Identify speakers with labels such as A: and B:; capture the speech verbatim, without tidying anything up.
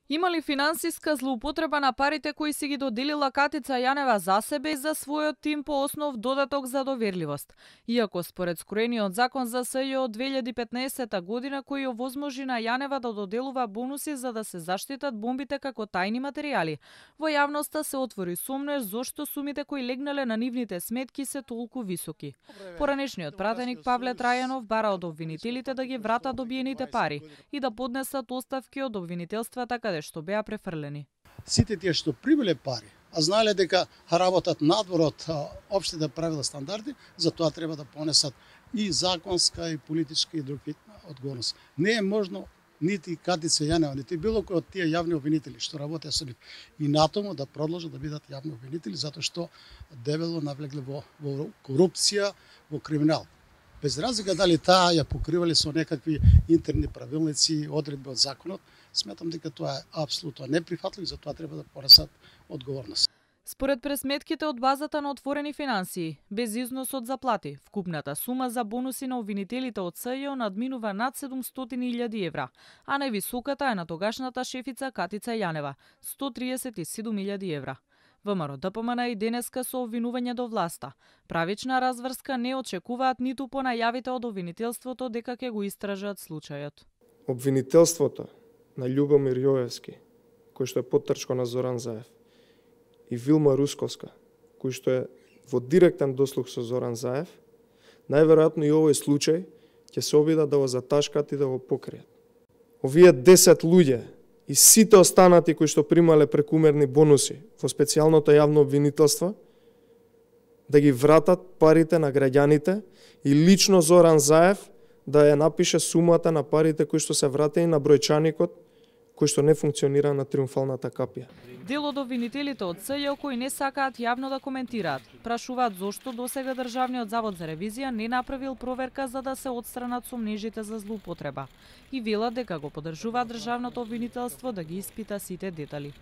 A: Има ли финансиска злоупотреба на парите кои си ги доделила Катица Јанева за себе и за својот тим по основ додаток за доверливост? Иако според скроениот закон за СЈО од две илјади и петнаесета година кој овозможи на Јанева да доделува бонуси за да се заштитат бомбите како тајни материјали, во јавноста се отвори сомнеш зошто сумите кои легнале на нивните сметки се толку високи. Поранешниот пратеник Павле Трајанов бара од обвинителите да ги вратат добиените пари и да поднесат оставки од обвинителствата каде што беа префрлени.
B: Сите тие што прибиле пари, а знаеле дека работат надвор од општите правила стандарди, за тоа треба да понесат и законска, и политичка, и други одговорност. Не е можно нити Катица Јанева, нити било кој од тие јавни обвинители што работеа со нив и натаму да продолжат да бидат јавни обвинители, затоа што дебело навлегле во, во корупција, во криминал. Без разлика дали таа ја покривале со некакви интерни правилници, одредби од законот, сметам дека тоа е апсолутно неприфатливо и за тоа треба да понесат одговорност.
A: Според пресметките од базата на отворени финансии, без износ од заплати, вкупната сума за бонуси на обвинителите од СЈО надминува над седумстотини илјади евра, а највисоката е на тогашната шефица Катица Јанева – сто триесет и седум илјади евра. ВМРО Д П М Н и денеска со обвинување до власта. Правична разврска не очекуваат ниту по најавите од обвинителството дека ќе го истражат случајот.
C: Обвинителството на Љубомир Јоевски, кој што е поттрчко на Зоран Заев, и Вилма Русковска, кој што е во директен дослуг со Зоран Заев, најверојатно и овој случај ќе се обидат да го заташкат и да го покријат. Овие десет луѓе и сите останати кои што примале прекумерни бонуси во специјалното јавно обвинителство, да ги вратат парите на граѓаните и лично Зоран Заев да ја напише сумата на парите кои што се вратени на бројчаникот кој што не функционира на триумфалната капија.
A: Дел од обвинителите од СЈО кои не сакаат јавно да коментираат, прашуваат зошто досега Државниот завод за ревизија не направил проверка за да се отстранат сомнежите за злоупотреба и велат дека го поддржуваат државното обвинителство да ги испита сите детали.